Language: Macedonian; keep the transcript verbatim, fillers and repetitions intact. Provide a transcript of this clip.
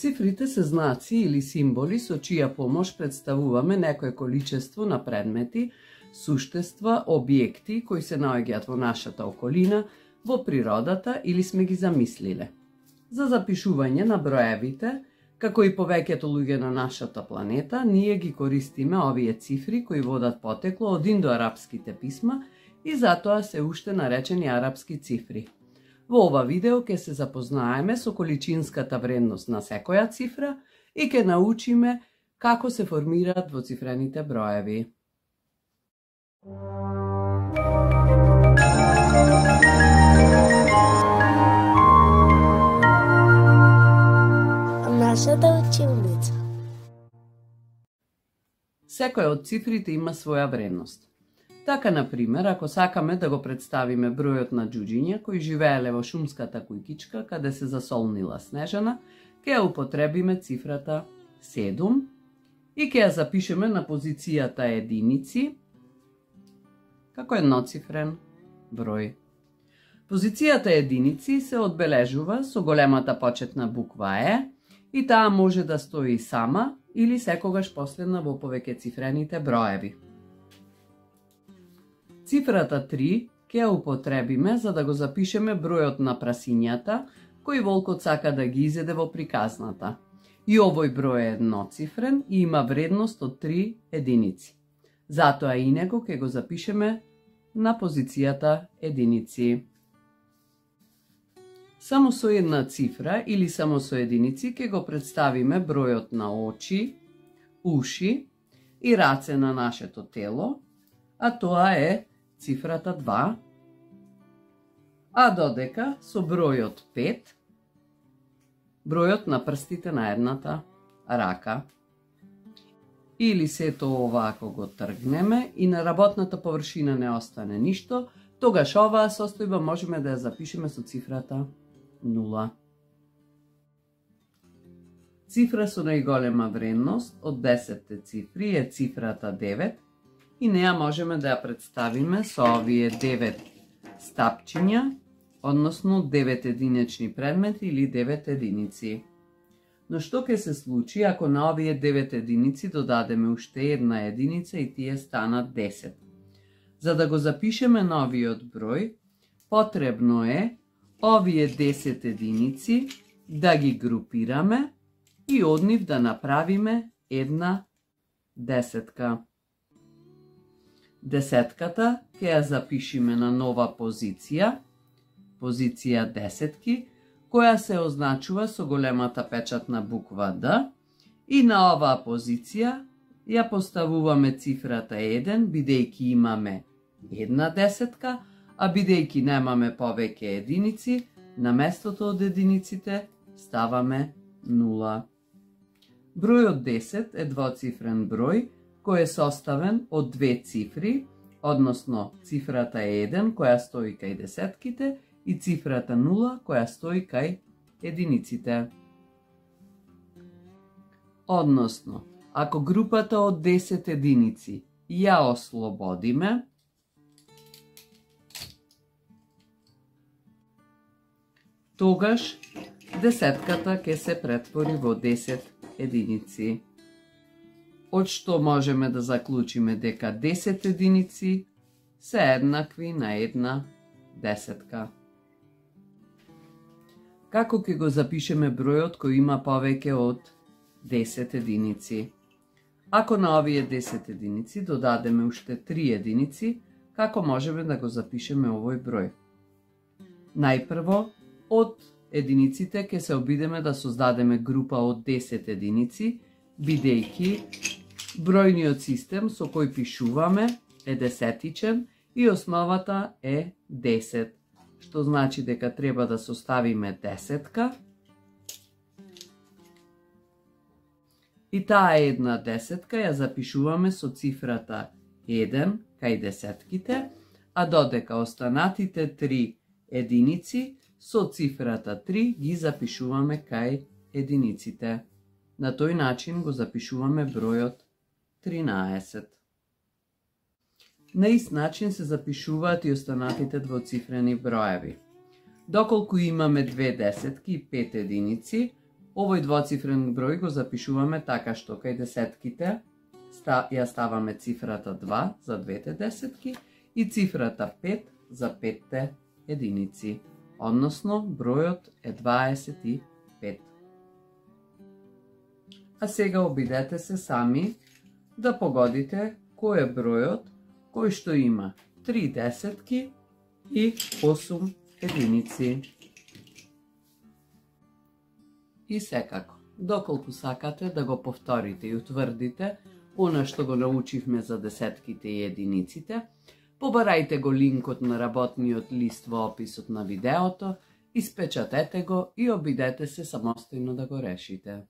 Цифрите се знаци или символи со чија помош представуваме некое количество на предмети, суштества, објекти кои се наоѓаат во нашата околина, во природата или сме ги замислиле. За запишување на броевите, како и повеќето луѓе на нашата планета, ние ги користиме овие цифри кои водат потекло од индоарапските писма и затоа се уште наречени арапски цифри. Во ова видео ќе се запознаеме со количинската вредност на секоја цифра и ќе научиме како се формираат двоцифрените броеви. Нашата училница. Секоја од цифрите има своја вредност. Така, например, ако сакаме да го представиме бројот на џуџиња кои живееле во шумската кујкичка каде се засолнила Снежана, ќе ја употребиме цифрата седум и ќе ја запишеме на позицијата единици како едноцифрен број. Позицијата единици се одбележува со големата почетна буква Е и таа може да стои сама или секогаш последна во повеќецифрените броеви. Цифрата три ќе ја употребиме за да го запишеме бројот на прасињата кои волкот сака да ги изеде во приказната. И овој број е едноцифрен и има вредност од три единици. Затоа и него ќе го запишеме на позицијата единици. Само со една цифра или само со единици ќе го представиме бројот на очи, уши и раце на нашето тело, а тоа е цифрата два, а додека со бројот пет, бројот на прстите на едната рака. Или сето ова ако го тргнеме и на работната површина не остане ништо, тогаш оваа состојба можеме да ја запишеме со цифрата нула. Цифра со најголема вредност од десетте цифри е цифрата девет и неа можеме да ја представиме со овие девет стапчиња, односно девет единични предмети или девет единици. Но што ќе се случи ако на овие девет единици додадеме уште една единица и тие станат десет? За да го запишеме новиот број, потребно е овие десет единици да ги групираме и од нив да направиме една десетка. Десетката ќе ја запишеме на нова позиција, позиција десетки, која се означува со големата печатна буква Д, и на оваа позиција ја поставуваме цифрата еден, бидејќи имаме една десетка, а бидејќи немаме повеќе единици, на местото од единиците ставаме нула. Бројот десет е двоцифрен број кој е составен од две цифри, односно цифрата еден која стои кај десетките и цифрата нула која стои кај единиците. Односно, ако групата од десет единици ја ослободиме, тогаш десетката ќе се претвори во десет единици. Од што можеме да заклучиме дека десет единици се еднакви на една десетка. Како ќе го запишеме бројот кој има повеќе од десет единици? Ако на овие десет единици додадеме уште три единици, како можеме да го запишеме овој број? Најпрво, од единиците ќе се обидеме да создадеме група од десет единици, бидејќи бројниот систем со кој пишуваме е десетичен и основата е десет, што значи дека треба да составиме десетка и таа една десетка ја запишуваме со цифрата еден кај десетките, а додека останатите три единици со цифрата три ги запишуваме кај единиците. На тој начин го запишуваме бројот тринаесет. На ист начин се запишуваат и останатите двоцифрени броеви. Доколку имаме две десетки и пет единици, Овој двоцифрен број го запишуваме така што кај десетките ја ставаме цифрата два за двете десетки и цифрата пет за петте единици, односно бројот е дваесет и пет. А сега обидете се сами да погодите кој е бројот кој што има три десетки и осум единици. И секако, доколку сакате да го повторите и утврдите она што го научивме за десетките и единиците, побарајте го линкот на работниот лист во описот на видеото, испечатете го и обидете се самостојно да го решите.